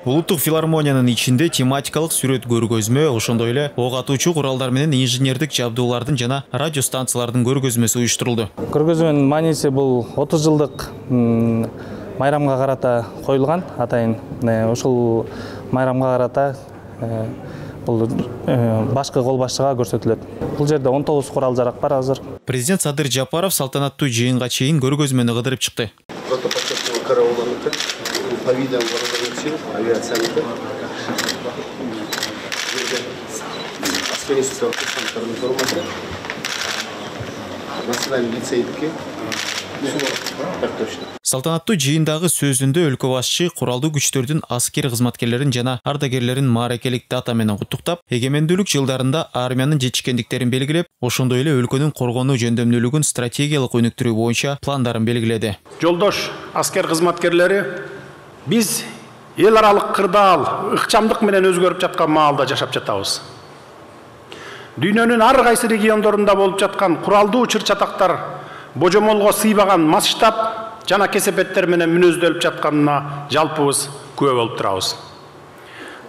Улуттук филармониянын ичинде тематикалык сүрөт көргөзмө, ошондой эле ок атуучу куралдар менен инженердик жабдуулардын жана радио станциялардын көргөзмөсү уюштурулду. Көргөзмөнүн мааниси бул 30 жылдык майрамга карата коюлган. Атайын ушул майрамга карата бул башкы кол башчыга көрсөтүлөт. Бул жерде 19 курал жарак бар азыр. Президент Садыр Жапаров салтанаттуу жыйынга чейин көргөзмөнү кыдырып чыкты. По видам вооруженных сил, авиацияныкы, аскерийский курсанттардын формасы, национальный лицейдики, так точно. Салтанаттуу жыйындагы сөзүндө өлкө башчы куралдуу күчтөрдүн аскер кызматкерлерин жана ардагерлерин мааракелик дата менен куттуктап, эгемендүүлүк жылдарында армиянын жетишкендиктерин белгилеп, ошондой эле өлкөнүн коргонуу жөндөмдүүлүгүн стратегиялык өнүктүрүү боюнча пландарын белгиледи. Жолдош аскер кызматкерлери биз эл аралык кырдаал, ыкчамдык менен өзгөрүп жаткан маалда жашап жатабыз. Дүйнөнүн ар кайсы региондорунда болуп жаткан куралдуу чыр-чатактар божомолго сыйбаган масштаб жана кесепеттер менен мүнөздөлүп жатканына жалпыбыз күбө болуп турабыз.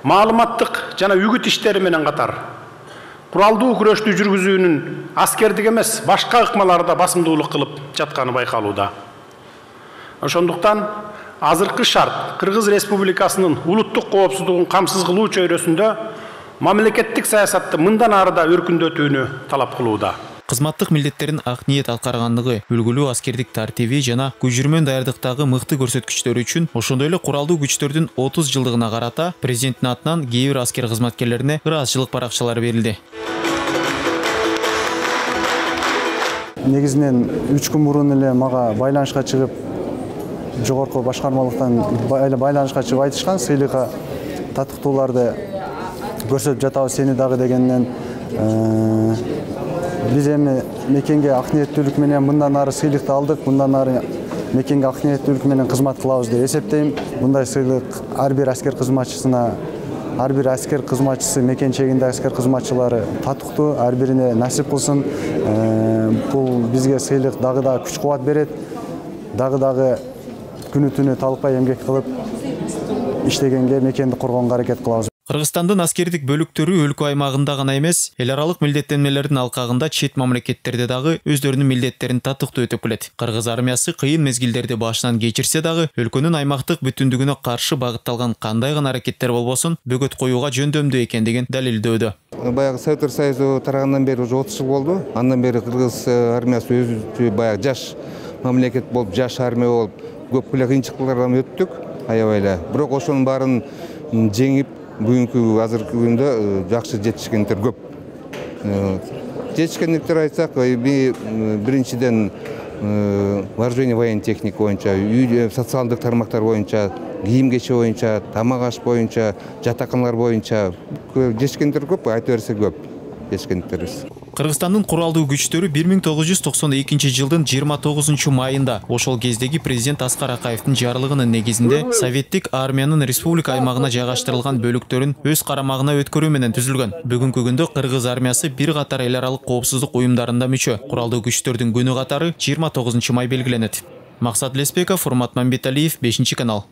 Маалыматтык жана үгүт иштери менен катар куралдуу күрөштү жүргүзүүнүн аскердик эмес, башка ыкмаларда басымдуулук кылып жатканы байкалууда. Ошондуктан азыркы шарт Кыргыз Республикасынын улуттук коопсуздугун камсыз кылуу чөйрөсүндө мамлекеттик саясатты мындан ары да өркүндөтүүнү талап кылууда. Кызматтык милдеттерин ак ниет аткаргандыгы, үлгүлүү аскердик тартиби жана көжүрмөн даярдыктагы мыкты көрсөткүчтөрү үчүн, ошондой эле куралдуу күчтөрдүн 30 жылдыгына карата президенттин атынан кээ бир аскер кызматкерлерине ыраазычылык баракчалары берилди. Негизинен 3 күн мурун эле мага байланышка чыгып, жогорку башкармалыктан байланышка чыгып айтышкан, сыйлыкка татыктууларды көрсөтүп жатабыз сени дагы дегенден биз эми мекенге ак ниеттүүлүк менен мындан ары сыйлыкты алдык, мындан ары мекенге ак ниеттүүлүк менен кызмат кылабыз деп эсептейм. Мындай сыйлык ар бир аскер кызматчысына, ар бир аскер кызматчысы, мекен чегинде аскер кызматчылары татыктуу, ар бирине насип кылсын. Бул бизге сыйлык дагы да күч кубат берет, дагы күнү түнү талыкпай эмгек кылып иштегенге, мекенди коргонго аракет кылабыз. Кыргызстандын аскердик бөлүктөрү өлкө аймагында гана эмес, эл аралык милдеттенмелердин алкагында чет мамлекеттерде дагы өздөрүнүн милдеттерин татыктуу өтөп келет. Кыргыз армиясы кыйын мезгилдерди башынан кечирсе дагы, өлкөнүн аймактык бүтүндүгүнө каршы багытталган кандай гана аракеттер болбосун, бөгөт коюуга жөндөмдүү экендигин далилдөөдө. Баягы Советтер Союзу тарагынан бери уже 30 жыл болду. Андан бери Кыргыз армиясы өзү баягы жаш мамлекет болуп, жаш армия болуп, көп эле кыйынчылыктардан өттүк, аябай эле. Бирок ошонун баарын жеңип, бүгүнкү азыркы күндө жакшы жетишкендер көп. Жетишкендиктер айтсак, биринчиден вооружение военной техника боюнча, социалдык тармактар боюнча, кийим кече боюнча, тамак аш боюнча, жатаканалар боюнча жетишкендер көп, айта берсе көп жетишкендиктерибиз. Кыргызстандын куралдуу күчтөрү 1992 жылдын 29 майында ошол кездеги президент Аскар Акаевдин жарлыгынын негизинде советтик армиянын республика аймагына жайгаштырылган бөлүктөрүн өз карамагына өткөрүү менен түзүлгөн. Бүгүнкү күндө Кыргыз армиясы бир катар эл аралык коопсуздук уюмдарында мүчө. Куралдуу күчтөрдүн күнү катары 29 май белгиленет. Максат Леспеков, Урмат Мамбеталиев, 5 канал.